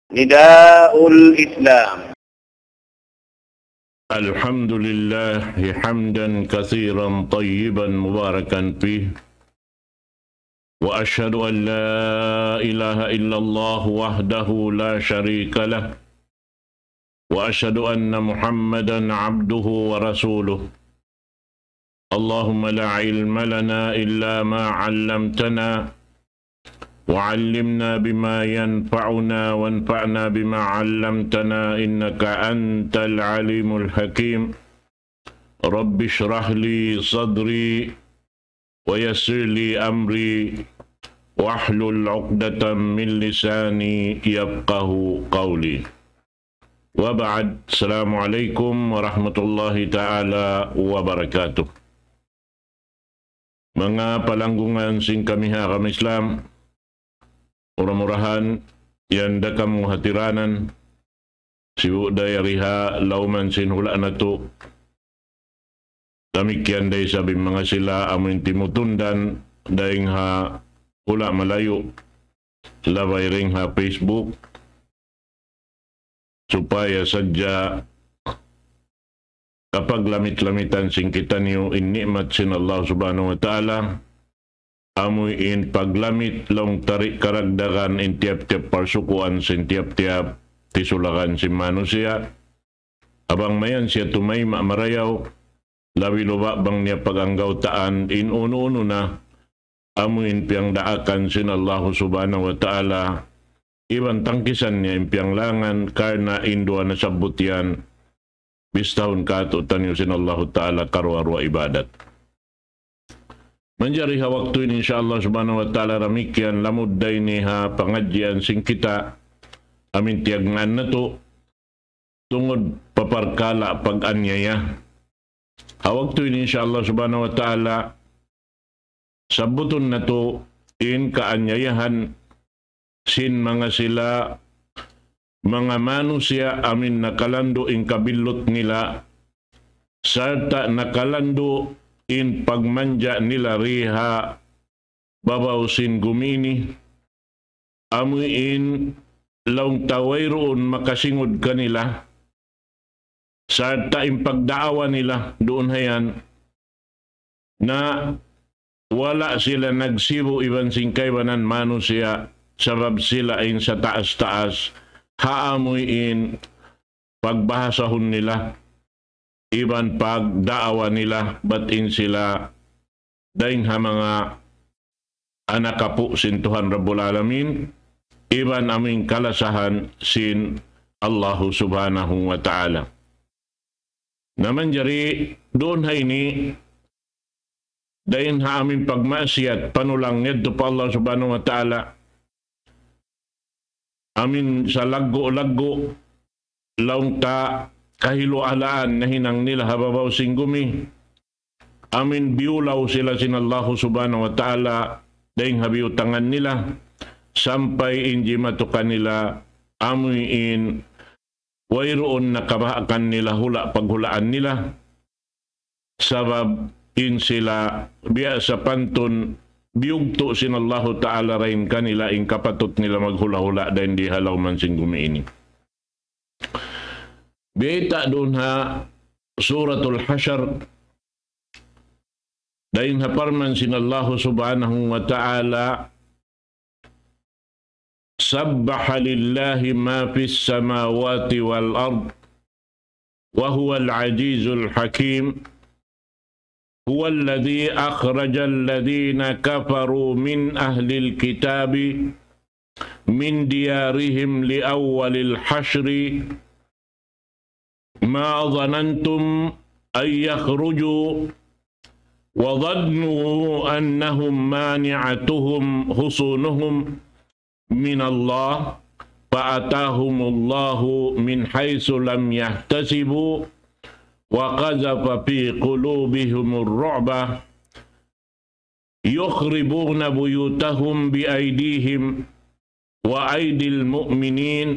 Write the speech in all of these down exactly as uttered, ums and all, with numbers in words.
نداء الإسلام. الحمد لله حمدا كثيرا طيبا مباركا فيه، وأشهد أن لا إله إلا الله وحده لا شريك له، وأشهد أن محمدا عبده ورسوله. اللهم لا علم لنا إلا ما علمتنا، وعلمنا بما ينفعنا، وانفعنا بما علمتنا، إنك أنت العليم الحكيم. رب اشرح لي صدري، ويسر لي أمري، واحلل عقدة من لساني يفقه قولي. وبعد، السلام عليكم ورحمة الله تعالى وبركاته. Manga palanggungan sin kami ha agama Islam, mura-murahan yan da kamu hatiranan, sibu' da yari ha lawman sin hula' natu'. Damikkiyan da isab in manga sila amu in timutundan dayn ha hula' malayu', labay dayn ha Facebook, supaya sadja kapaglamit-lamitan sin kitaniyu in ni'mat sin Allah Subhanahu wa Ta'ala, amu in paglamit laung ta di' karagdagan in tiyap-tiyap parsukuan sin tiyap-tiyap tisulagan sin manusiya'. Bang mayan siya tumayma' marayaw, labi luba' bang niya pag-anggawtaan in unu-unu na, amu in piyangdaakan sin Allah Subhanahu wa Ta'ala, iban tangkisan niya in piyanglangan, karna' in duwa nasabbut yan, bistahun kātu'niyu sin Allahu Ta'ala karuwa-ruwa ibadat. Manjari ha waktu ini, insya Allah Subhanahu wa Ta'ala, damikkiyan lamud da ini ha pangadjian sin kita, amu in tiyagnaan natu', tungud pa parkala' pag-anyaya. Ha waktu ini, insya Allah Subhanahu wa Ta'ala, sabbutun natu' in kaanyayahan sin manga sila, manga manusiya' amu in nakalandu' in kabillut nila, sarta' nakalandu' in pagmanja' nila di ha babaw sin gumi ini, amu in laung ta wayruun makasingud kanila, sarta' in pagdaawa nila duun hayan, na wala' sila nagsibu' iban sin kaibanan manusiya', sabab sila in sataas-taas ha amu in pagbahasahun nila, iban pagdaawa nila, bat in sila dayn ha manga anak apu' sin Tuhan Rabbul Alamin, iban amu in kalasahan sin Allahu Subhanahu wa Ta'ala. Na manjari duun ha ini, dayn ha amu in pagmaksiyat, panulang yadtu pa Allah Subhanahu wa Ta'ala, amu in salaggu'-laggu' laung ta kahilu-halaan nahinang nila ha babaw sin gumi. Amu in biyulaw sila sin Allahu Subhanahu wa Ta'ala dayn ha biyutangan nila, sampay in jimatu kanila amu in wayruun nakabaakan nila hula' paghulaan nila. Sabab in sila biya' sapantun biyugtu' sin Allahu Ta'ala dayn kanila in kapatut nila maghula'-hula' dayn di ha lawman sin gumi ini. Biyayta' duun ha Suratul Hashr, dayn ha parman sin Allahu Subhanahu wa Ta'ala, سبح لله ما في السماوات والأرض وهو العزيز الحكيم. هو الذي أخرج الذين كفروا من أهل الكتاب من ديارهم لأول الحشر ما ظننتم أن يخرجوا وظنوا أنهم مانعتهم حصونهم من الله فأتاهم الله من حيث لم يحتسبوا وقذف في قلوبهم الرعب يخربون بيوتهم بأيديهم وأيدي المؤمنين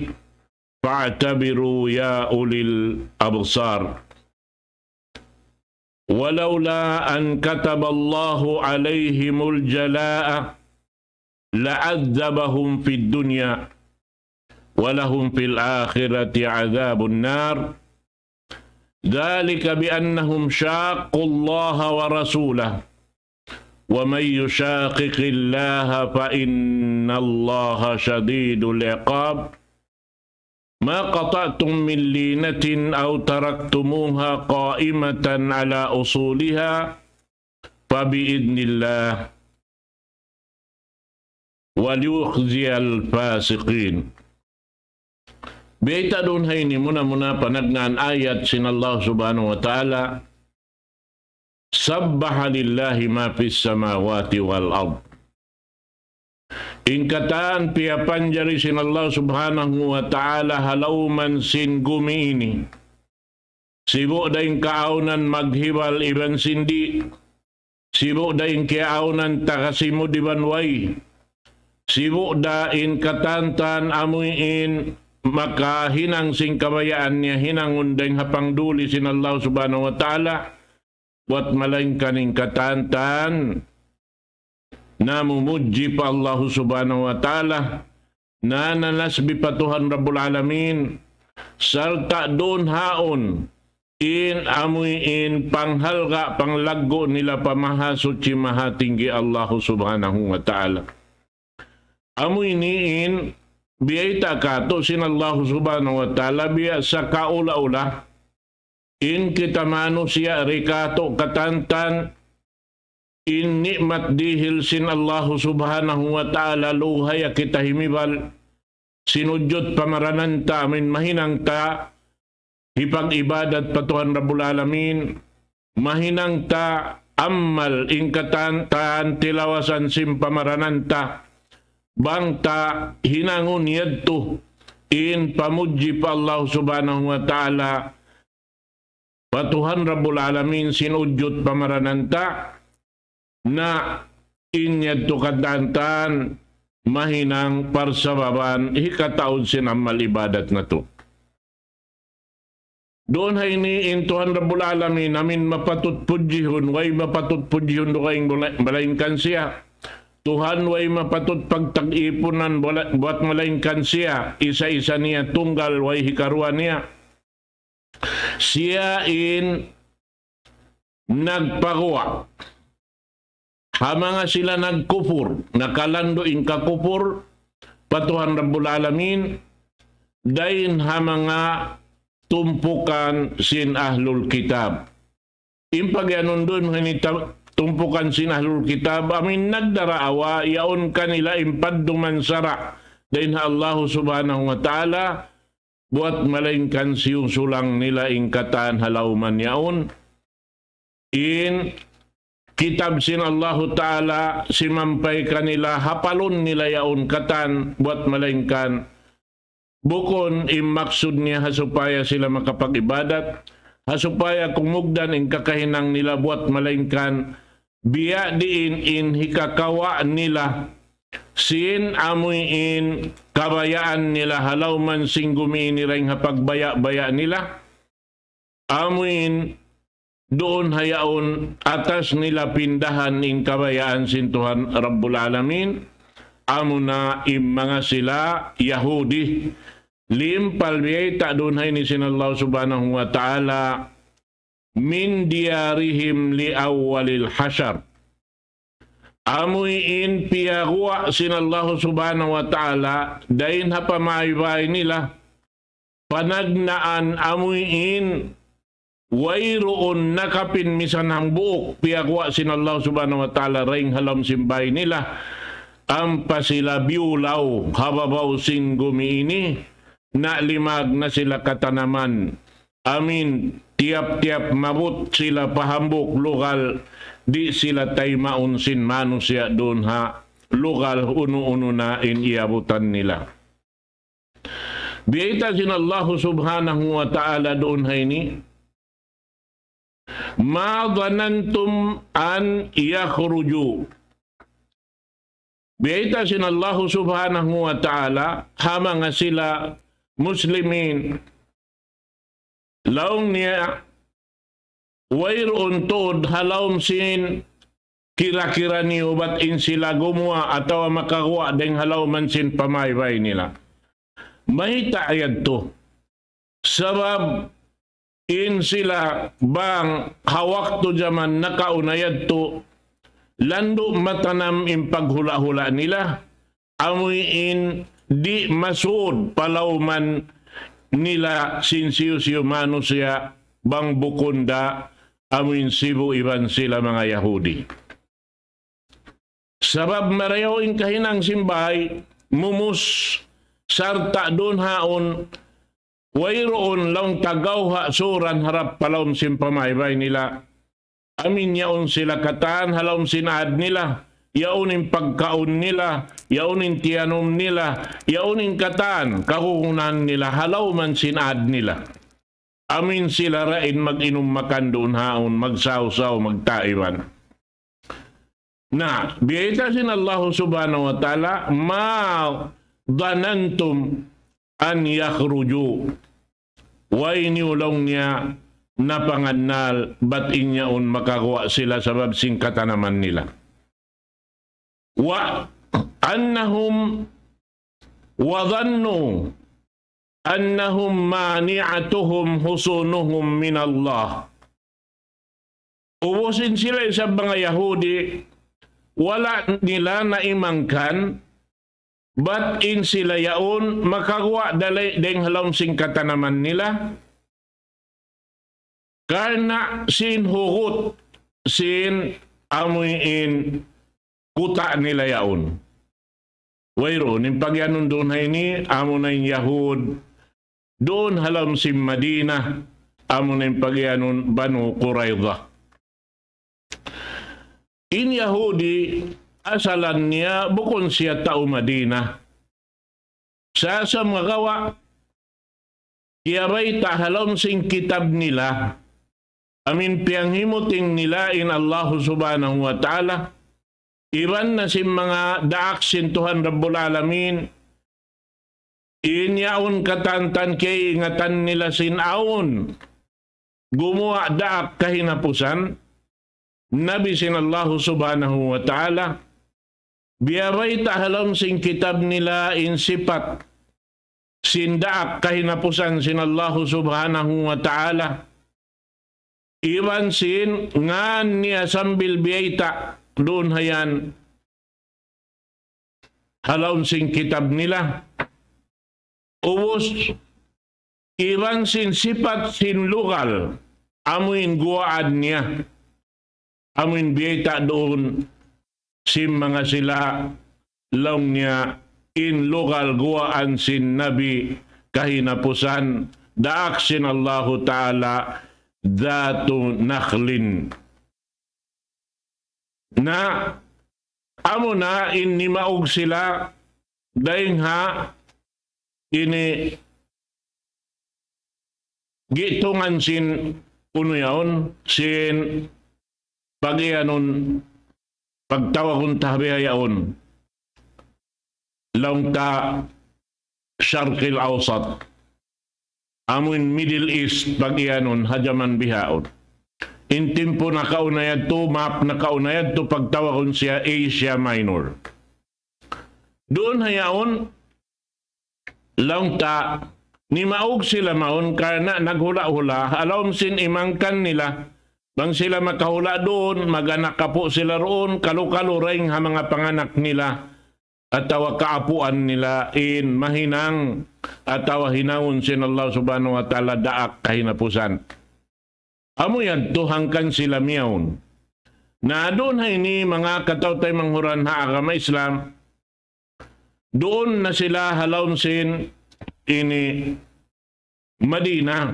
فاعتبروا يا أولي الأبصار. ولولا أن كتب الله عليهم الجلاء لعذبهم في الدنيا ولهم في الآخرة عذاب النار. ذلك بأنهم شاقوا الله ورسوله، ومن يشاقق الله فإن الله شديد العقاب. ما قطعتم من لينة أو تركتموها قائمة على أصولها فبإذن الله وليخزي الفاسقين. Biyayta' duun ha ini muna-muna panagnaan ayat sin Allah Subhanahu wa Ta'ala, سبح لله ما في السماوات والأرض. In katan piyapanjari sin Allah Subhanahu wa Ta'ala ha lawm sin gumi ini. Sibu' da in kaawnan maghibal iban sin di'. Sibu' da in kaawnan tagasimud iban way. Sibu' da in katan-katan amuin makahinang sin kabayaan niya hinangun dayn ha pangduli sin Allah Subhanahu wa Ta'ala. Buwat malaingkan in katan-katan namumudji pa Allah Subhanahu wa Ta'ala, nananasbi pa Tuhan Rabbul Alamin, sarta' duun haun in amuin panghalga', panglaggu' nila pa Mahasuchi Mahatinggi Allah Subhanahu wa Ta'ala. Amu ini in biyayta' katu' sin Allah Subhanahu wa Ta'ala biya' sakaula-ula. In kita manusiya' di' katu' katan-katan in ni'mat dihil sin Allah Subhanahu wa Ta'ala, luhaya kita himibal, sinujud pamaranan ta, amuin mahinang ta hipag-ibadat pa Tuhan Rabbul Alamin, mahinang ta amal in katan-katan tilawasan sin pamaranan ta, bang ta hinangun yadtu in pamudji pa Allah Subhanahu wa Ta'ala, pa Tuhan Rabbul Alamin sin ujud pamaranan ta, na in yadtu katan-katan mahinang parsababan hikataud sin amal ibadat natu'. Duun ha ini in Tuhan Rabbul Alamin, amuin mapatut pudjihun, way mapatut pudjihun dugaing bula-, malaingkan siya. Tuhan way mapatut pagtag-ipunan bula-, buwat malaingkan siya. Isa-isa niya tunggal, way hikaruwa niya. Siya in nagpaguwa' ha manga sila nagkupur, nakalandu' in kakupur pa Tuhan Rabbul Alamin, dayn ha manga tumpukan sin Ahlul Kitab. In pagiyanun duun ha ini ta-, tumpukan sin Ahlul Kitab, amuin nagdaraawa, yaun kanila in padduman sara' dayn ha Allah Subhanahu wa Ta'ala, buwat malaingkan siyusulang nila in katan ha lawm yaun. In kitab sin Allahu Ta'ala simampay kanila, hapalun nila yaun katan, buwat malaingkan bukun in maksud niya ha supaya sila makapag-ibadat, ha supaya kumugdan in kakahinang nila, buwat malaingkan biya' diin in hikakawa' nila sin amuin kabayaan nila ha lawm sin gumi ini dayn ha pagbaya'-baya' nila. Amuin duun ha yaun atas nila pindahan in kabayaan sin Tuhan Rabbul Alamin, amuna in manga sila Yahudi. Limpal biyayta' duun ha ini sin Allah Subhanahu wa Ta'ala, من ديارهم لأول الحشر. Amuin piyaguwa' sin Allah Subhanahu wa Ta'ala dayn ha pamaybay nila, panagnaan amuin wayruun nakapin misan hambuuk, piyaguwa' sin Allah Subhanahu wa Ta'ala dayn ha lawm sin bay nila, ampa sila biyulaw ha babaw sin gumi ini, na limag na sila katanaman. Amuin tiyap-tiyap maabut sila pa hambuuk lugal, di' sila taymaun sin manusiya' duun ha lugal unu-unu na in iyabutan nila. Biyayta' sin Allah Subhanahu wa Ta'ala duun ha ini, ما ظننتم أن يخرجوا. Biyayta' sin Allah Subhanahu wa Ta'ala ha manga sila Muslimin, laung niya, wayruun tuud ha lawm sin kira-kira niyu bat in sila gumuwa' atawa makaguwa' dayn ha lawm sin pamaybay nila. Mayta' yadtu? Sabab in sila bang ha waktu jaman nakauna yadtu, landu' matanam in paghula'-hula' nila, amuin di' masud palauman nila sin hisiyu-siyu manusiya' bang bukun da amuin sibu' iban sila manga Yahudi. Sabab marayaw in kahinang sin bāy, mumus, sarta' duun haun, wayruun laung ta gawha' suran harap pa lawm sin pamaybay nila. Amuin yaun sila katan ha lawm sin ad nila, yaun in pagkaun nila, yaun in tiyanum nila, yaun in katan kagunahan nila ha lawm sin ad nila. Amuin sila dayn mag-inum makan duun haun, magsawsaw, magtaiban. Na, biyayta' sin Allahu Subhanahu wa Ta'ala, ما ظننتم أن يخرجوا. Way niyu laung niya napangannal bat in yaun makaguwa' sila sabab sin katanaman nila. وأنهم وظنوا أنهم مانعتهم حصونهم من الله. Ubus in sila isab manga Yahudi, wala' nila naimangkan, bat in sila yaun makaguwa' da lay dayn ha lawm sin katanaman nila, karna' sin hugut sin amuin kuta' nila yaun. Wayruun, in pagiyanun duun ha ini, amuna in Yahud, duun ha lawm sin Madina, amuna in pagiyanun Banu Qurayza. In Yahudi, asalan niya bukun siya tau Madina. Sa' sumagawa', kiyabayta' ha lawm sin kitab nila, amuin piyanghimuting nila in Allahu Subhanahu wa Ta'ala, iban na sin manga daak sin Tuhan Rabbul Alamin, in yaun katantan kiyaiingatan nila sin awn gumuwa' daak kahinapusan, nabi sin Allahu Subhanahu wa Ta'ala, biyabayta' ha lawm sin kitab nila in sipat sin daak kahinapusan sin Allahu Subhanahu wa Ta'ala. Iban sin ngan niya sambil biyayta' duun ha yan ha lawm sin kitab nila. Ubus, iban sin sipat sin lugal, amuin guwaan niya. Amuin biyayta' duun sin manga sila laung niya in lugal guwaan sin Nabi kahinapusan, daak sin Allahu Ta'ala, ذات نخل. Na, amuna in nimaug sila dayn ha ini gitungan sin unu yaun, sin pagiyanun, pagtawagun ta bihaun, laung ta Sharqil Awsat. Amuin Middle East pagiyanun ha jaman bihaun. In timpu nakauna yadtu, map nakauna yadtu, pagtawagun siya Asia Minor. Duun ha yaun, laung ta, nimaug sila mawn karna' naghula'-hula', ha lawm sin imangkan nila, bang sila makahula' duun, mag-anak apu' sila duun, kalu-kalu dayn ha manga panganak nila, atawa kaapuan nila in mahinang, atawa hinangun sin Allah Subhanahu wa Ta'ala daak kahinapusan. Amu yadtu hangkan sila miyawn. Na duun ha ini manga kataw-taymanghuran ha agama Islam, duun na sila ha lawm sin ini Madina.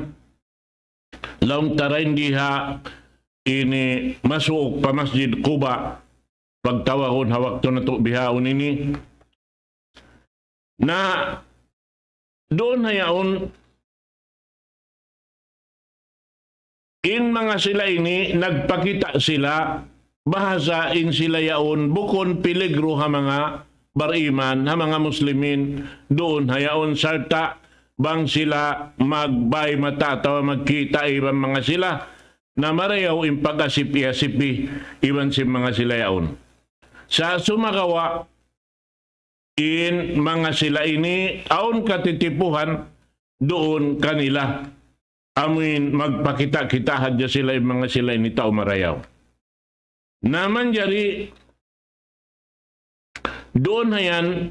Laung ta dayn di ha ini masuuk pa Masjid Quba, pagtawagun ha waktu natu' bihaun ini. Na duun ha yaun, in manga sila ini, nagpakita' sila, bahasa in sila yaun, bukun piligru ha manga bariman, ha manga muslimin, duun ha yaun, sarta' bang sila magbay mata atawa magkita' iban manga sila, na marayaw in pag-asip-iyasipi iban sin manga sila yaun. Sa' sumagawa', in manga sila ini awn katitipuhan duun kanila. Amuin magpakita'-kita' hadja sila in manga sila ini tau marayaw. Na manjari duun ha yan,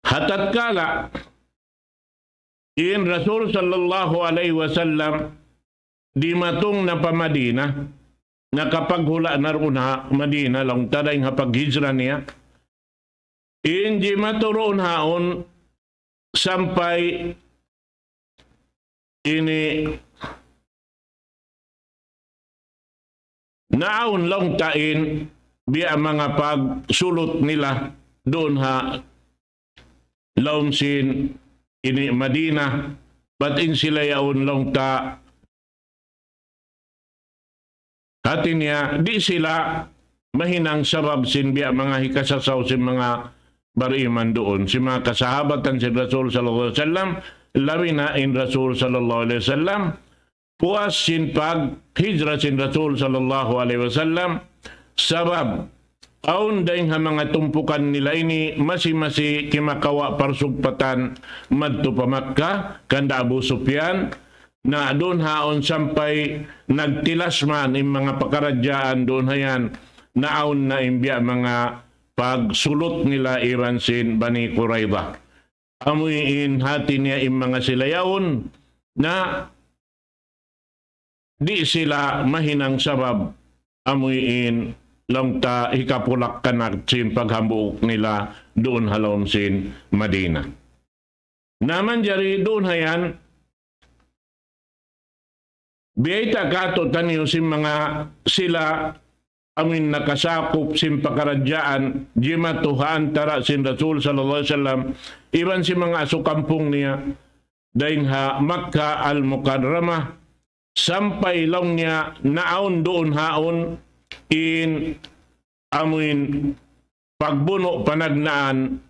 ha tatkala in Rasul sallallahu alayhi wasallam dimatung na pa Madina, nakapaghula' na duun ha Madina, laung ta dayn ha paghijra niya. In jimatu duun haun sampay ini naawn laung ta in biya' manga pagsulut nila duun ha lawm sin ini Madina, bat in sila yaun laung ta hati niya, di' sila mahinang sabab sin biya' manga hikasasaw sin manga bariman duun, sin manga kasahabatan sin Rasul sallallahu alayhi wasallam, labi na in Rasul sallallahu alayhi wasallam, puas sin paghijra sin Rasul sallallahu alayhi wasallam, sabab awn dayn ha manga tumpukan nila ini masi-masi kimakawa' parsugpatan madtu pa Makkah, kanda Abu Sufyan, na duun haun sampay nagtilas man in manga pakaradjaan duun ha yan, naawn na in biya' manga pagsulut nila iban sin Bani Qurayza. Amuin hati niya in manga sila yaun, na di' sila mahinang sabab amuin laung ta hikapulak-kanak sin paghambuuk nila duun ha lawm sin Madina. Na manjari duun ha yan, biyayta' kātu'niyu sin manga sila amuin nakasakup sin pakaradjaan jimatu ha antara' sin Rasul sallallahu alayhi wasallam iban sin manga asukampung niya dayn ha Makkah Al-Mukarramah, sampay laung niya naawn duun haun in amuin pagbunu' panagnaan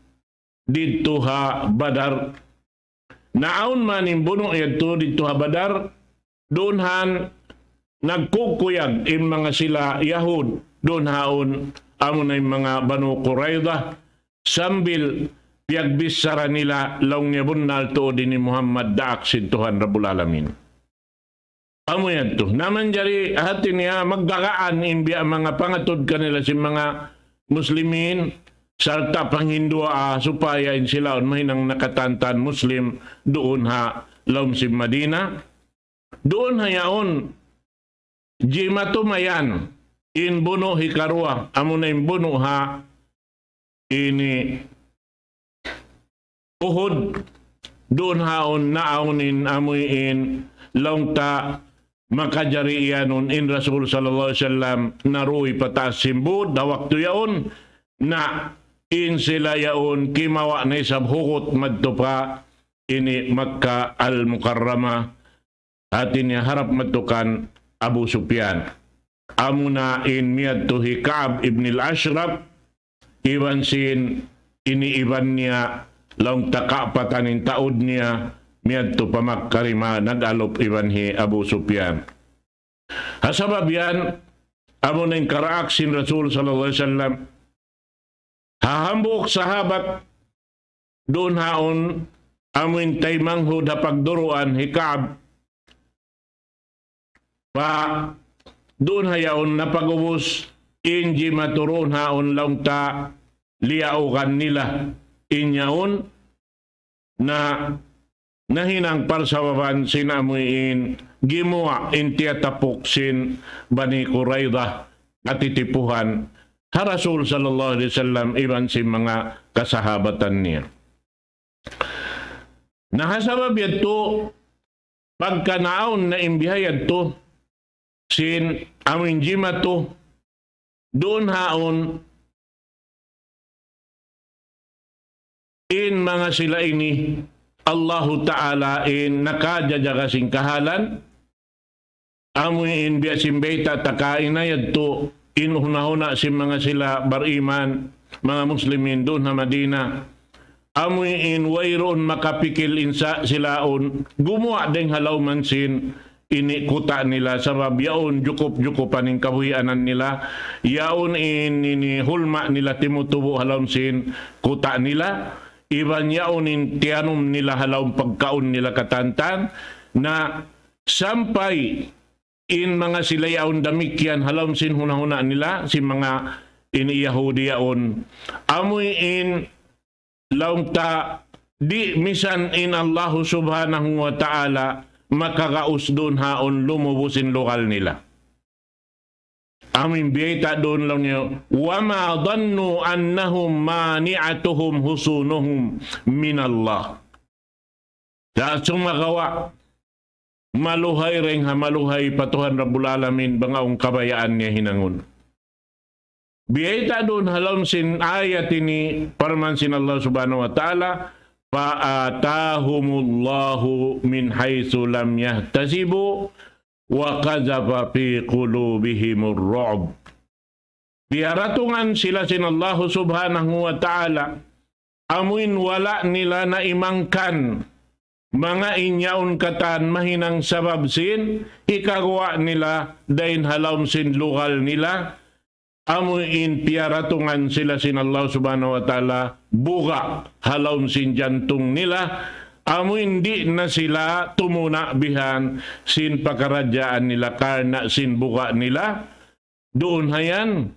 didtu ha Badar. Naawn man in bunu' yadtu didtu ha Badar, duun han nagkukuyag in manga sila Yahud, duun haun amuna in manga Banu Qurayza, sambil piyagbichara nila laung niya bunnal tuud ini Muhammad daak sin Tuhan Rabbul Alamin. Amu yadtu. Na manjari hati niya magkakaan in biya' manga pangatud kanila sin manga Muslimin, sarta' panghinduwaa supaya in sila yaun mahinang nakatantan Muslim duun ha lawm sin Madina. Duun ha yaun, jimatu mayan in bunu' hikaruwa, amuna in bunu' ha ini Uhud, duun haun naawn in amuin laung ta makajari iyanun in Rasul sallallahu alayhi wasallam naruy pataas sin būd ha waktu yaun, na in sila yaun kimawa' na isab hugut madtu pa ini Makkah Al-Mukarramah, hati niya harap madtu kan Abu Sufyan. Amuna in miyadtu hi Ka'b ibn al-Ashraf, iban sin ini iban niya, laung ta kaapatan in taud niya, miyadtu pa Makkah dima nag-alup iban hi Abu Sufyan. Ha sabab yan, amuna in karaak sin Rasul sallallahu alayhi wasallam, ha hambuuk sahabat, duun haun amuin taymanghud ha pagduruan hi Ka'b, pa duun ha yaun napag'ubus in jimatu duun haun laung ta liyaugan nila in yaun na nahinang parsababan sin amuin gimuwa' in tiyatapuk sin Bani Qurayza, katitipuhan ha Rasul sallallahu alayhi wasallam iban sin manga kasahabatan niya. Na ha sabab yadtu, pagka naawn na in biha yadtu sin amuin jimatu, duun haun in manga sila ini, Allahu Ta'ala in nakajajaga sin kahalan, amuin biya' sin bayta' ta kaina yadtu, in huna-huna sin manga sila bariman, manga Muslimin duun ha Madina. Amuin wayruun makapikil in sa-, sila yaun gumuwa' dayng ha lawm sin ini kuta' nila, sabab yaun jukup-jukupan in kabuhianan nila, yaun in ini hulma' nila timutubu' ha lawm sin kuta' nila, iban yaun in tiyanum nila ha lawm pagkaun nila katantan, na sampay in manga sila yaun damikkiyan ha lawm sin huna-huna nila, sin manga ini Yahudi yaun. Amuin laung ta, di' misan in Allahu Subhanahu wa Ta'ala makagaus duun haun lumubu sin lugal nila. Amuin biyayta' duun laung niya, وما ظنوا أنهم مانعتهم حصونهم من الله. Sa' sumagawa', maluhay dayn ha maluhay pa Tuhan Rabbul Alamin, bang awn kabayaan niya hinangun. Biyayta' duun ha lawm sin ayat ini, parman sin Allah Subhanahu wa Ta'ala, فآتاهم الله من حيث لم يحتسبوا وقذف في قلوبهم الرعب. Piyaratungan sila sin Allahu Subhanahu wa Ta'ala, amuin wala' nila naimangkan manga in yaun katan mahinang sabab sin hikaguwa' nila dayn ha lawm sin lugal nila, amuin piyaratungan sila sin Allah Subhanahu wa Ta'ala buga' ha lawm sin jantung nila, amuin di' na sila tumuna' bihan sin pakaradjaan nila karna' sin buga' nila. Duun hayan,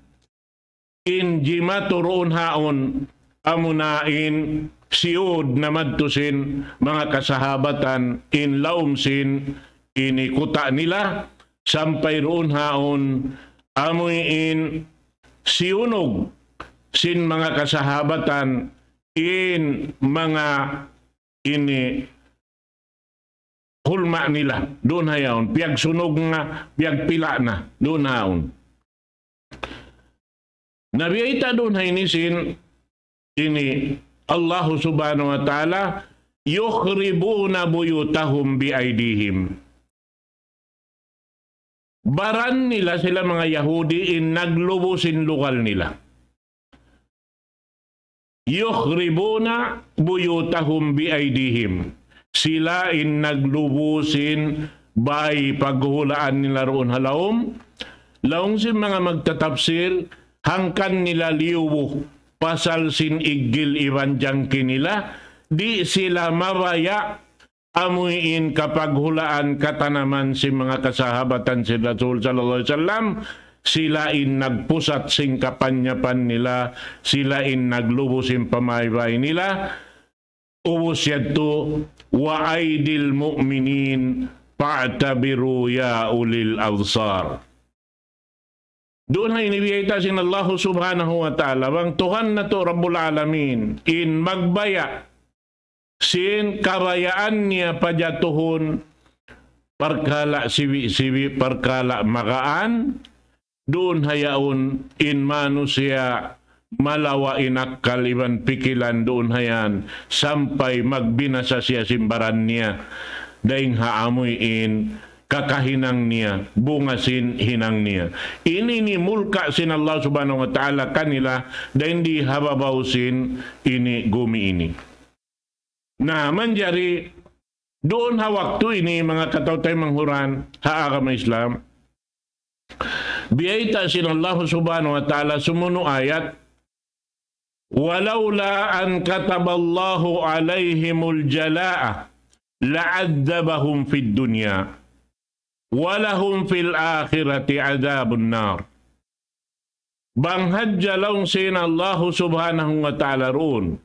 in jimatu duun haun, amuna in siyud na madtu sin manga kasahabatan in lawm sin ini kuta' nila, sampay duun haun, amuin siyunug sin manga kasahabatan in manga ini hulma' nila, duun hayaun, piyagsunug na, piyagpila' na, duun hayaun. Na biyayta' duun ha ini sin, ini Allahu Subhanahu wa Ta'ala, يخربون بيوتهم بأيديهم. Baran nila sila manga Yahudi in naglubu sin lugal nila. يخربون بيوتهم بأيديهم. Sila in naglubu sin bay paghulaan nila duun ha lawm. Laung sin manga magtatapsir, hangkan nila liyubu pasal sin iggil iban jangki nila, di' sila mabaya' amuin kapaghulaan katanaman sin manga kasahabatan sin Rasul sallallahu alayhi wasallam, sila in nagpusat sin kapanyapan nila, sila in naglubu sin pamaybay nila, ubus yadtu, وأيدي المؤمنين فاعتبروا يا أولي الأبصار. Duun ha ini biyayta' sin Allahu Subhanahu wa Ta'ala, bang Tuhan natu' Rabbul Alamin, in magbaya' sin kabayaan niya pajatuhun parkala' sibi'-sibi', parkala' magaan, duun hayaun in manusiya' malawa' in akkal iban pikilan duun hayan, sampay magbinasa siya sin baran niya, dayn ha amuin kakahinang niya, bunga sin hinang niya. Ini in mulka' sin Allah Subhanahu wa Ta'ala kanila, dayn di ha babaw sin ini gumi ini. Na, manjari, duun ha waktu ini, manga kataw-taymanghuran ha agama Islam, biyayta' sin Allah Subhanahu wa Ta'ala sumunu' ayat, ولولا أن كتب الله عليهم الجلاء لعذبهم في الدنيا ولهم في الآخرة عذاب النار. Bang hadja laung sin Allahu Subhanahu wa Ta'ala duun.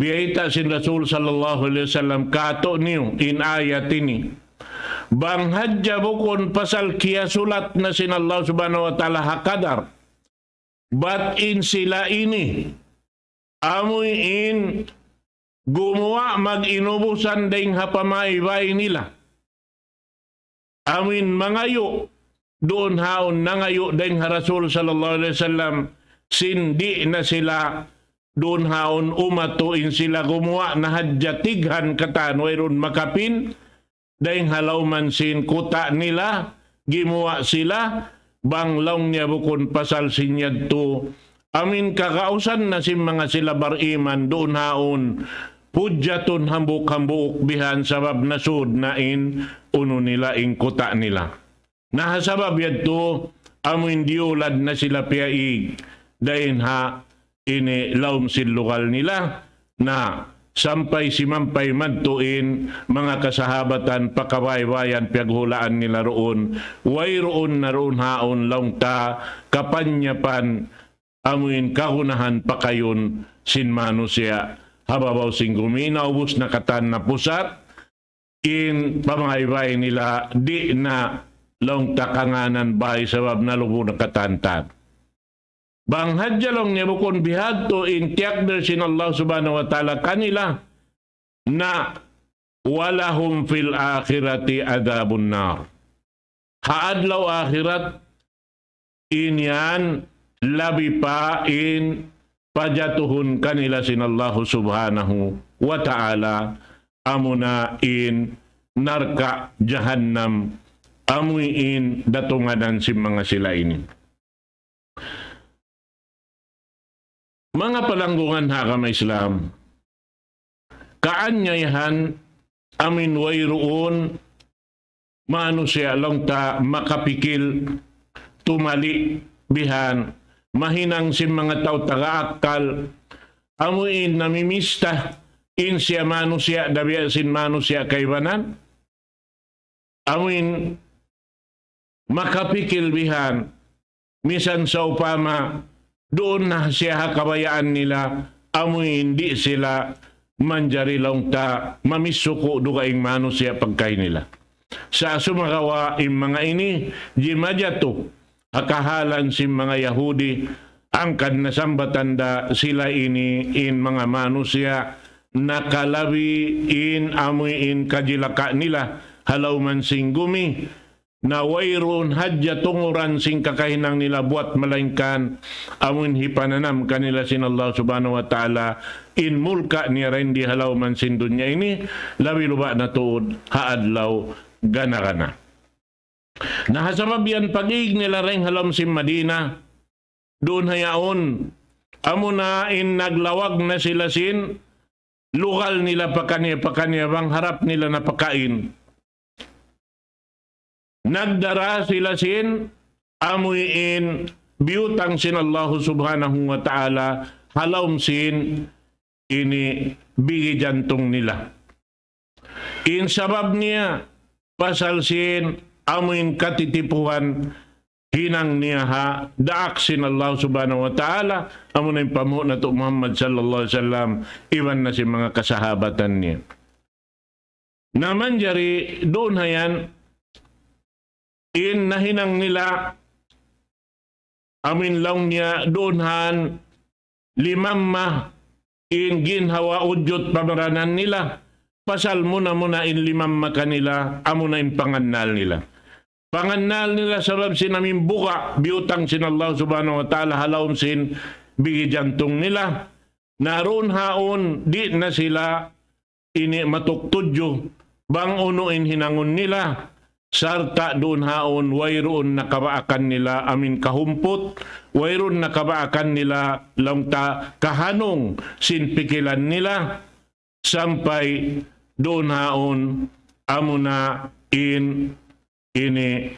Biyayta' sin Rasul sallallahu alayhi wasallam, katu' niyu in ayat ini. Bang hadja bukun pasal kiyasulat na sin Allah Subhanahu wa Ta'ala ha kadar. Bat in sila ini, amuin gumuwa' mag-inubusan dayn ha pamaybay nila. Amuin mangayu', duun haun nangayu' dayn ha Rasul sallallahu alayhi wasallam, sin di' na sila duun haun umatu in sila gumuwa' na hadja tighan katan wayruun makapin, dayn ha lawman sin kuta' nila, gimuwa' sila, bang laung niya bukun pasal sin yadtu. Amuin kagausan na sin manga sila bariman duun haun, hujjatun hambuuk-hambuuk bihan sabab nasud na in unu nila, in kuta' nila. Na ha sabab yadtu, amuin diyulad na sila piyaig dayn ha ini lawm sin lugal nila, na sampay simampay madtu in manga kasahabatan pa kabaybayan piyaghulaan nila duun, wayruun na duun haun laung ta kapanyapan amuin kagunahan pakayun sin manusiya' ha babaw sin gumi, naubus na katan na pusat, in pamaybay nila di' na laung ta kangānan bay sabab nalubu na katan-katan. Bang hadja laung niya bukun bihadtu in tiyakdir sin Allah Subhanahu wa Ta'ala kanila, na ولهم في الآخرة عذاب النار. Ha adlaw akhirat, in yan labi pa in pajatuhun kanila sin Allah Subhanahu wa Ta'ala, amuna in narka' jahannam, amuin datunganan sin manga sila ini. Manga palanggungan ha agama Islam, kaanyayahan amuin wayruun manusiya' laung ta makapikil tumali bihan, mahinang sin manga tau taga akkal, amuin namimista in siya manusiya' dabiya sin manusiya' kaibanan. Amuin makapikil bihan, misan sawpama duun na siya ha kabayaan nila, amuin di' sila manjari laung ta mamisuku' dugaing manusiya' pagkahi nila. Sa' sumagawa' in manga ini, jimajatu ha kahalan sin manga Yahudi, hangkan na sambatan da sila ini in manga manusiya' nakalabi in amuin kajilaka nila ha lawm sin gumi, na wayruun hadja tunguran sin kakahinang nila buwat malaingkan amuin hipananam kanila sin Allah Subhanahu wa Ta'ala in mulka' niya dayn di ha lawm sin dunya ini, labi luba' na tuud ha adlaw gana-gana. Na ha sabab yan pag-ig nila dayn ha lawm sin Madina, duun ha yaun, amuna in naglawag na sila sin lugal nila pakaniya-pakaniya bang harap nila na pakain. Nagdara sila sin amuin biyutang sin Allah Subhanahu wa Ta'ala ha lawm sin ini bigi jantung nila. In sabab niya, pasal sin amuin katitipuhan hinang niya ha daak sin Allah Subhanahu wa Ta'ala, amuna in panghu' natu' Muhammad sallallahu alayhi wasallam, iban na sin manga kasahabatan niya. Na manjari duun ha yan, in nahinang nila, amuin laung niya duun ha yan, limamma in ginhawa-ujud pamaranan nila, pasal muna-muna in limamma kanila, amuna in pangannal nila. Pangannal nila sabab sin amuin buga' biyutang sin Allah Subhanahu wa Ta'ala ha lawm sin bigi jantung nila. Na duun haun, di' na sila ini matuktudju bang unu in hinangun nila, sarta' duun haun wayruun nakabaakan nila amuin kahumput, wayruun nakabaakan nila laung ta kahanung sin pikilan nila, sampay duun haun amuna in ini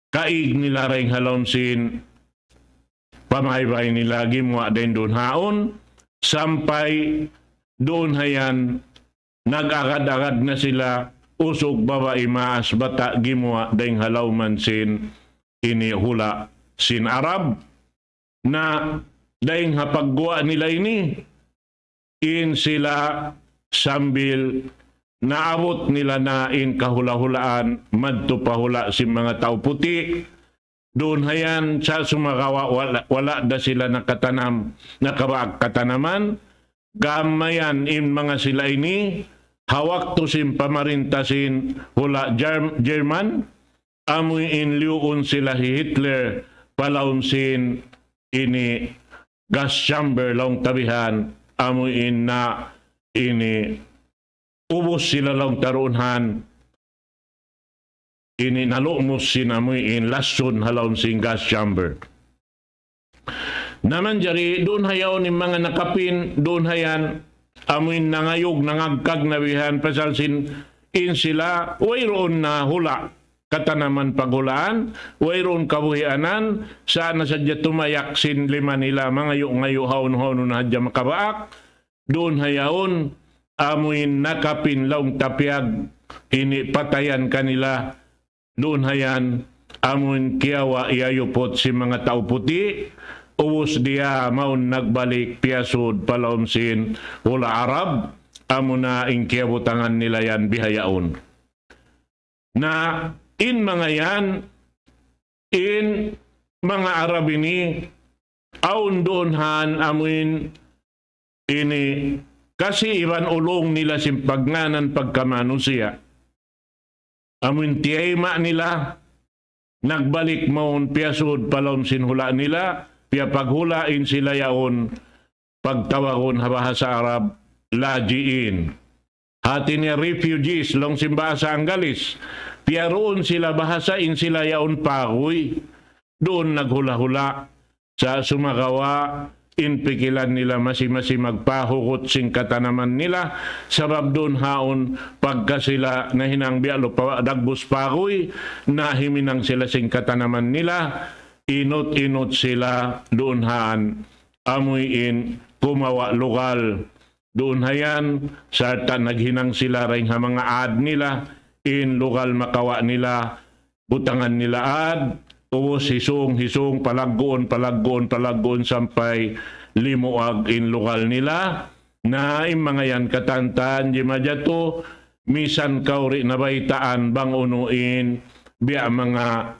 kaig nila dayn ha lawm sin pamaybay nila gimuwa' dayn duun haun, sampay duun ha yan nag-agad-agad na sila, usug babai maas bata' gimuwa' dayn ha lawm sin ini hula' sin Arab. Na dayn ha pagguwa' nila ini, in sila sambil naabut nila na in kahula'-hulaan madtu pa hula' sin manga tau puti'. Duun ha yan sa' sumagawa' wala', wala' da sila nakatanam, nakabaak katanaman. Gam mayan in manga sila ini, ha waktu sin pamarinta sin hula' Germ-, German, amuin liyuun sila hi Hitler pa lawm sin ini gas chamber laung ta bihan, amuin na ini ubus sila laung ta duun ha yan, ini nalumus sin amuin lasun ha lawm sin gas chamber. Na manjari duun ha yaun in manga nakapin, duun ha yan amuin nangayug, nangagkag na bihan, pasal sin in sila, wayruun na hula' katanaman paghulaan, wayruun kabuhianan, sa' na sadja tumayak sin lima nila, mangayu'-ngayu' hawnu-hawnu na hadja makabaak, duun ha yaun, amuin nakapin laung ta piyag ini patayan kanila, duun ha yan, amuin kiyawa' iyayuput sin manga tau puti', ubus diya mawn nagbalik piyasud pa lawm sin hula' Arab, amuna in kiyabutangan nila yan bihaun. Na in manga yan, in manga Arab ini, awn duun han amuin ini kasi iban ulung nila sin pagngānan pagkamanusiya'. Amuin tiyayma' nila, nagbalik mawn piyasud pa lawm sin hula' nila, piyapaghula' in sila yaun, pagtawagun ha bahasa Arab, laji'in. Hati niya refugees, laung sin bahasa Anggalis. Piyaruun sila bahasa in sila yaun paguy. Duun naghula'-hula'. Sa' sumagawa', in pikilan nila masi-masi magpahugut sin katanaman nila. Sabab duun haun pagka sila nahinang biya' lupa dagbus paguy, nahiminang sila sin katanaman nila. Inut-inut sila duun han amuin kumawa' lugal. Duun ha yan, sarta' naghinang sila dayn ha manga ad nila, in lugal makawa' nila, butangan nila ad, ubus hisung-hisung, palagguun, palagguun, palagguun, sampay limuag in lugal nila. Na in manga yan katantan, jimajatu, misan kaw di' nabaytaan bang unu in, biya' manga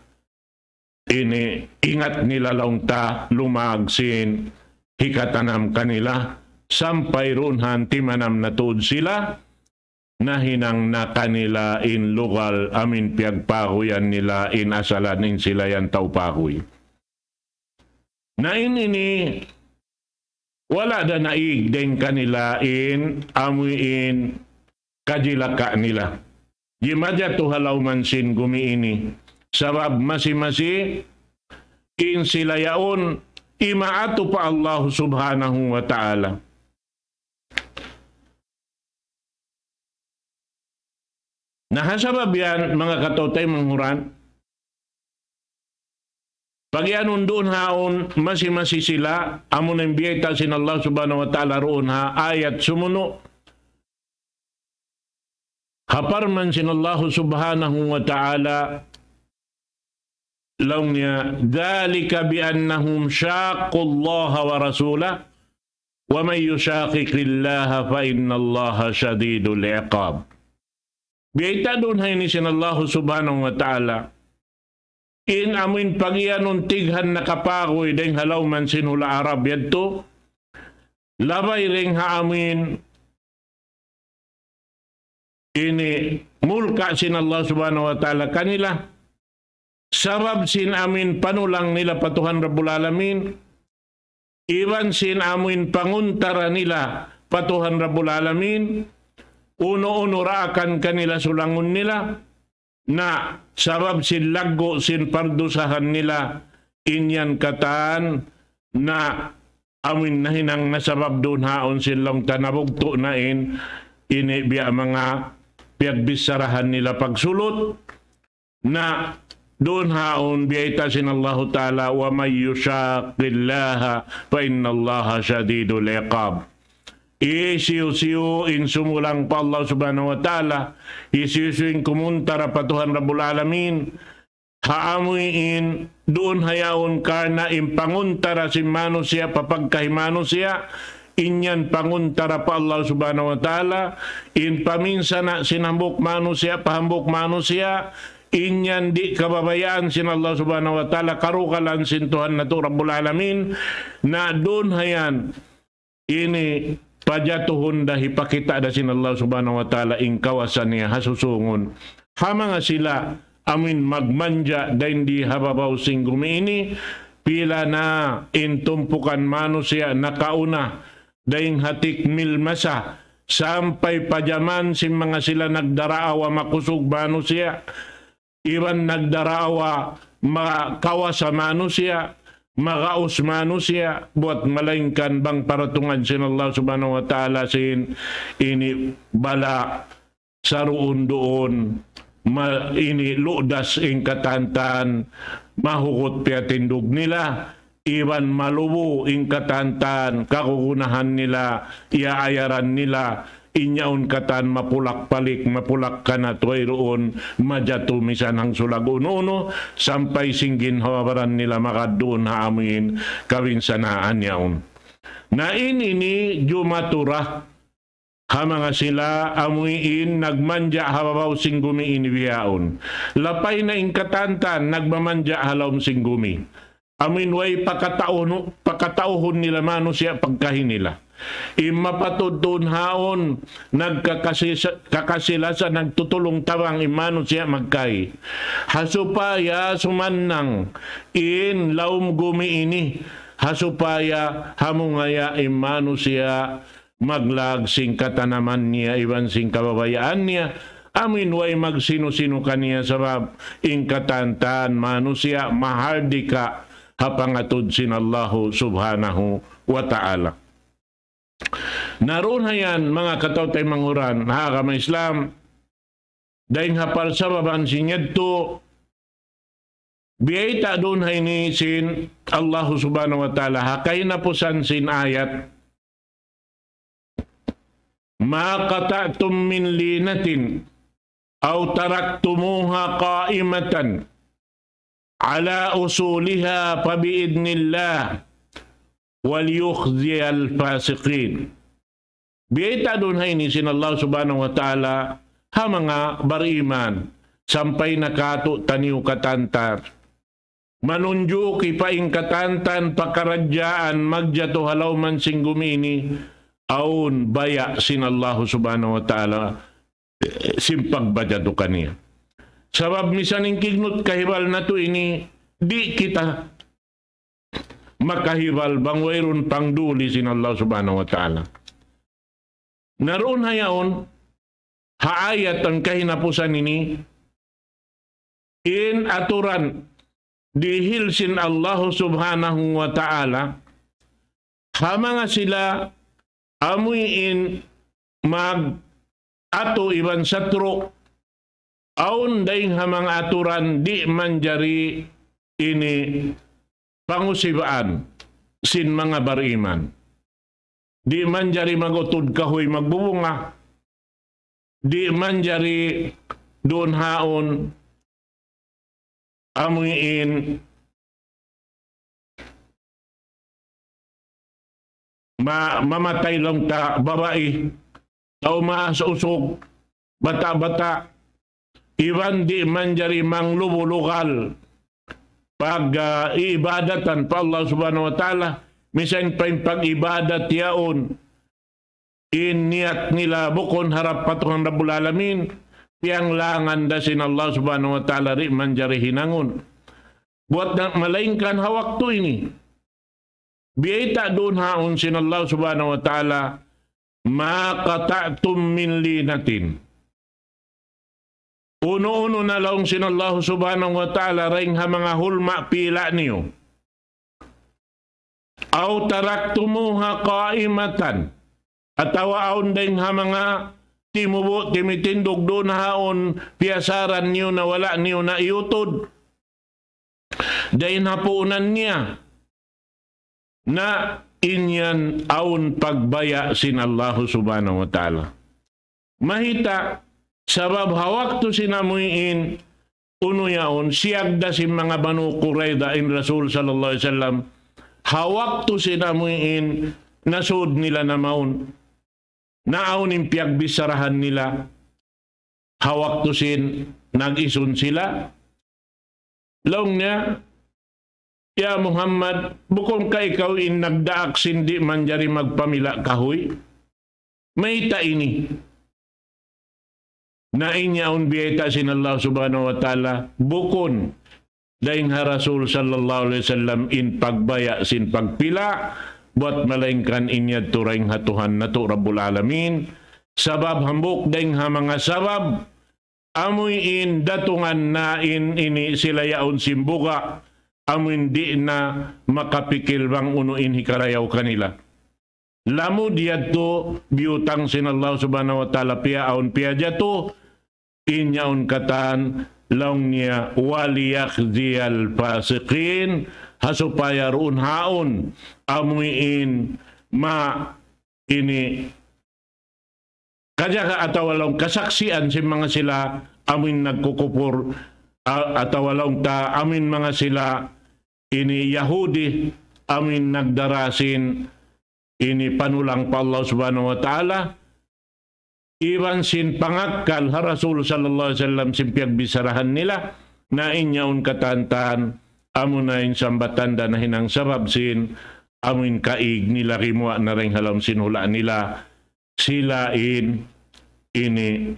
ini ingat nila laung ta lumag sin hikatanam kanila, sampay duun han timanam na tuud sila, nahinang na kanila in lugal amuin piyagpaguyan nila in asalan in sila yan tau paguy. Na in ini, wala' da naig dayn kanila in amuin kajilaka nila. Jimajatu ha lawm sin gumi ini. Sabab masi-masi in sila yaun imaatu pa Allah Subhanahu wa Ta'ala. Na ha sabab yan, manga kataw-taymanghuran, pagiyanun duun haun masi-masi sila, amuna in biyayta' sin Allah Subhanahu wa Ta'ala duun ha ayat sumunu'. Ha parman sin Allah Subhanahu wa Ta'ala, laung niya, ذلك بأنهم شاقوا الله ورسوله ومن يشاقق الله فإن الله شديد العقاب. Biyayta' duun ha ini sin Allah Subhanahu wa Ta'ala. In amuin pagiyanun tighan nakapaguy dayn ha lawm sin hula' Arab yadtu. Labay dayn ha amuin ini mulka' sin Allah Subhanahu wa Ta'ala kanila. Sabab sin amuin panulang nila pa Tuhan Rabbul Alamin, iban sin amuin panguntara nila pa Tuhan Rabbul Alamin, unu-unu daakan kanila sulangun nila, na sabab sin laggu' sin pardusahan nila, in yan katan na amuin nahinang na sabab duun haun sin laung ta nabugtu' na in, ini biya' manga piyagbicharahan nila pagsulut, na duun haun biyayta' sin Allahu Ta'ala, ومن يشاق الله فإن الله شديد العقاب. Hisiyu-siyu in sumulang pa Allah Subhanahu wa Ta'ala, hisiyu-siyu in kumuntara pa Tuhan Rabbul Alamin, ha amuin duun ha yaun karna' in panguntara sin manusiya' pa pagkahi manusiya', in yan panguntara pa Allah Subhanahu wa Ta'ala, in paminsana' sin hambuuk manusiya' pa hambuuk manusiya', in yan di' kababayaan sin Allah Subhanahu wa Ta'ala, karugalan sin Tuhan natu' Rabbul Alamin, na duun ha yan, ini pajatuhun da hipakita' da sin Allah Subhanahu wa Ta'ala in kawasa niya ha susungun. Ha manga sila amuin magmanja dayn di ha babaw sin gumi ini, pila na in tumpukan manusiya' nakauna, dayn ha tikmil masa, sampay pa jaman sin manga sila nagdaraawa makusug manusiya', iban nagdaraawa ma-, kawasa manusiya', magaus manusiya', buat malaingkan bang paratungan sin Allah Subhanahu wa Ta'ala sin ini bala' saruun-duun, ma-, ini ludas in katan-katan, mahugut piyatindug nila, iban malubu in katan-katan, kagunahan nila, iyaayaran nila, in yaun katan mapulak-palik, mapulak-kanat, wayruun majatu misan hangsulag unu-unu, sampay sin ginhawa-baran nila magad duun ha amuin kabinsanaan yaun. Na in ini jumatura ha manga sila amuin nagmanja' ha babaw sin gumi ini bihaun. Lapay na in katan-katan nagmamanja' ha lawm sin gumi. Amuin way pakatauhun, pakatauhun nila manusiya' pagkahi nila. In mapatud duun haun, nagkakasi-, kakasi-lasa, nagtutulung-tabang in manusiya' magkahi. Ha supaya sumannang in lawm gumi ini, ha supaya hamungaya in manusiya' maglag sin katanaman niya iban sin kababayaan niya, amuin way magsinu-sinu kaniya sabab in katan-katan manusiya' mahardika ha pangatud sin Allahu Subhanahu wa Ta'ala. Na duun ha yan, manga kataw-taymanghuran ha agama Islam, dayn ha parsababan sin yadtu, biyayta' duun ha ini sin Allahu Subhanahu wa Ta'ala, ha kahinapusan sin ayat, ما قطعتم من لينة أو تركتموها قائمة على أصولها فبإذن الله وليخزي الفاسقين. Biyayta' duun ha ini sin Allah Subhanahu wa Ta'ala ha manga bariman, sampay na katu' taniyu katantar. Manunjuki pa in katan-katan pakaradjaan magjatu ha lawm sin gumi ini, awn baya' sin Allah Subhanahu wa Ta'ala, eh, sin pagbajatu kaniya. Sabab misan in kignut kahibal natu' ini, di' kita makahibal bang wayruun pangduli sin Allah Subhanahu wa Ta'ala. Na duun ha yaun, ha ayat ha kahinapusan ini, in aturan dihil sin Allah Subhanahu wa Ta'ala, ha manga sila amuin mag-atu iban satru', awn dayng ha manga aturan di' manjari ini pangusibaan sin manga bariman. Di' manjari mag-utud kahuy magbubunga. Di' manjari duun haun amuin ma-, mamatay laung ta babai, tau maas usug, bata'-bata', iban di' manjari manglubu-lugal pag, ah, iibadatan pa Allah Subhanahu wa Ta'ala, misan pa in pag-ibadat yaun, in niyat nila bukun harap pa Tuhan Rabbul Alamin, piyanglangan da sin Allah Subhanahu wa Ta'ala, di' manjari hinangun. Buat na, malaingkan ha waktu ini, biyayta' duun haun sin Allah Subhanahu wa Ta'ala, ما قطعتم من لينة. Unu-unu na laung sin Allah Subhanahu wa Ta'ala dayng ha manga hulma' pila' niyu. أو تركتموها قائمة. Atawa awn dayng ha manga timubu', timitindug duun haun, piyasaran niyu na wala' niyu na iyutud. Dayn ha puunan niya. Na in yan awn pagbaya' sin Allahu Subhanahu wa Ta'ala. Mahita', sabab ha waktu sin amuin, unu yaun, siyag da sin manga Banu Qurayza in Rasul sallallahu alayhi wasallam, ha waktu sin amuin, nasud nila na mawn. Na awn in piyagbissarahan nila, ha waktu sin nag-isun sila. Laung niya, "Ya Muhammad, bukun ka ikaw in nagdaak sin di' manjari magpamila' kahuy? Mayta' ini?" Na in yaun biyayta' sin Allah Subhanahu wa Ta'ala, bukun dayng ha Rasul sallallahu alayhi wasallam in pagbaya' sin pagpila', buat malaingkan in yadtu dayng ha Tuhan natu' Rabbul Alamin, sabab hambuuk dayng ha manga sabab, amuin datungan na in ini sila yaun sin buga', amuin di' na makapikil bang unu in hikarayaw kanila. Lamud yadtu biyutang sin Allah Subhanahu wa Ta'ala piyaawn piyajatu, in yaun katan laung niya, وليخزي الفاسقين, ha supaya duun haun amuin ma ini kajaga atawa laung kasaksian sin manga sila amuin nagkukupur, a-, atawa laung ta amuin manga sila ini Yahudi amuin nagdara sin ini panulang pa Allah Subhanahu wa Ta'ala, iban sin pangakkal ha Rasul sallallahu alayhi wasallam sin piyagbissarahan nila, na in yaun katan-katan, amuna in sambatan da nahinang sabab sin, amuin kaig nila gimuwa' na dayn ha lawm sin hula' nila, sila in ini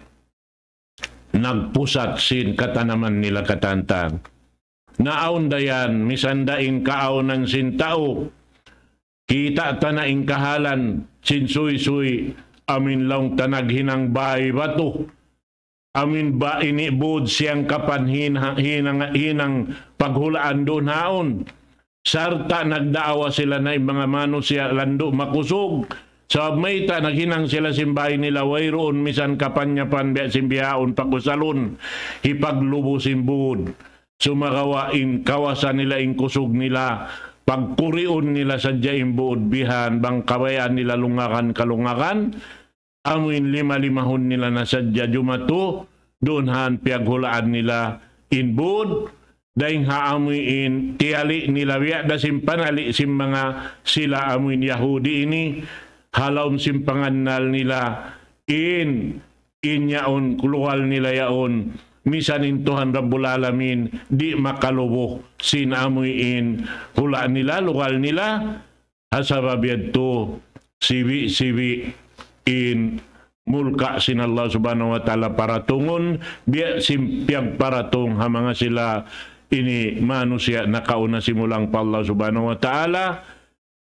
nagpusat sin katanaman nila katan-katan. Na awn da yan, misan da in kaawnan sin tau, kita' ta na in kahalan sin suysuy, amuin laung ta naghinang bay batu. Amuin ba ini bud siyangkapan hin-, hinang, hinang paghulaan duun haun. Sarta' nagdaawa sila na in manga manusiya' landu' makusug. Sabab mayta', naghinang sila sin bay nila wayruun misan kapanyapan biya' sin bihaun pakusalun. Hipaglubu sin bud. Sumagawa' in kawasa nila, in kusug nila, pagkuriun nila sadja in bud bihan, bang kabayaan nila lungagan kalungagan, amuin lima-limahun nila na sadja jumatu, duun haun piyaghulaan nila in bud, dayn ha amuin tiyali' nila biya' da sin panali' sin manga sila amuin Yahudi ini, ha lawm sin pangannal nila, in, in yaun, lugal nila yaun, misan in Tuhan Rabbul Alamin, di' makalubu sin amuin hula' nila, lugal nila, ha sabab yadtu, sibi'-sibi' in mulka' sin Allah Subhanahu wa Ta'ala paratungun, biya' sin piyagparatung ha manga sila ini manusiya' nakauna simulang pa Allah Subhanahu wa Ta'ala,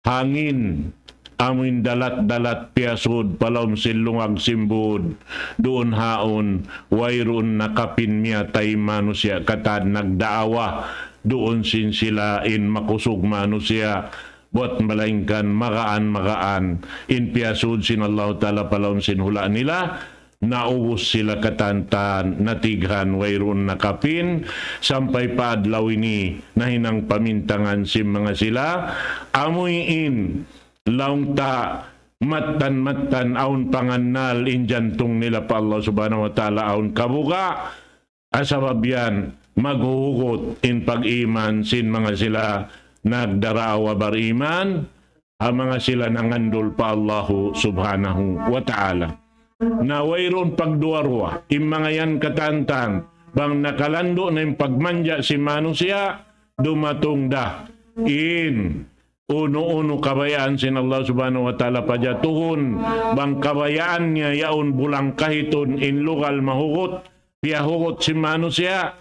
hangin, amuin dalat-dalat piyasud pa lawm sin lungag sin bud, duun haun, wayruun nakapin miyatay manusiya' katan nagdaawa, duun sin sila in makusug manusiya', buwat malaingkan magaan-magaan in piyasud sin Allahu Ta'ala pa lawm sin hula' nila, naubus sila katan-katan, natighan, wayruun nakapin, sampay pa adlaw ini, nahinang pamintangan sin manga sila, amuin, laung ta, mattan-mattan awn pangannal in jantung nila pa Allah Subhanahu wa Ta'ala awn kabuga', ha sabab yan, maghuhugut in pag-iman sin manga sila nagdaraawa bariman, ha manga sila nangandul pa Allahu Subhanahu wa Ta'ala. Na wayruun pagduwa-ruwa, in manga yan katan-katan, bang nakalandu' na in pagmanja sin manusiya', dumatung da in unu-unu kabayaan sin Allah Subhanahu wa Ta'ala pajatuhun, bang kabayaan niya yaun bulang kahitun in lugal mahugut, piyahugut sin manusiya',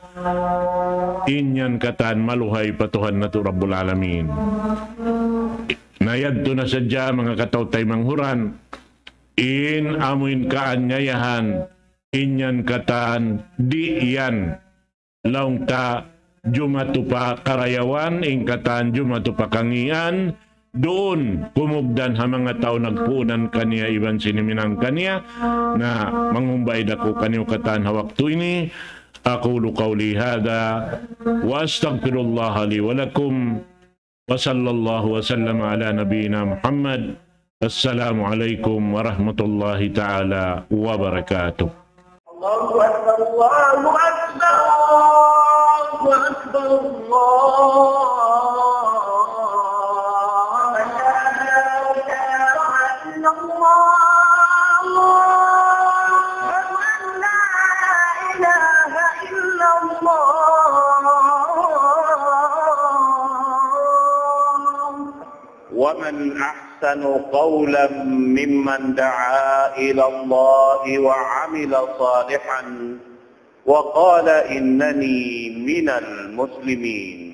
in yan katan maluhay pa Tuhan natu' Rabbul Alamin. Na yadtu na sadja manga kataw-taymanghuran, in amuin kaanyayahan, in yan katan, di' yan laung ta jumatu pa karayawan, in katan jumatu pa kangīan, duun kumugdan ha manga tau nagpuunan kaniya iban sin himinang kaniya, na manghumbay da aku kaniyu katan ha waktu ini. أقول قولي هذا وأستغفر الله لي ولكم وصلى الله وسلم على نبينا محمد. السلام عليكم ورحمة الله تعالى وبركاته. الله أكبر، الله أكبر، الله أكبر، الله أكبر. أشهد أن لا إله إلا الله. أشهد أن لا إله إلا الله. ومن أحسن قولا ممن دعا إلى الله وعمل صالحا وقال إنني من المسلمين.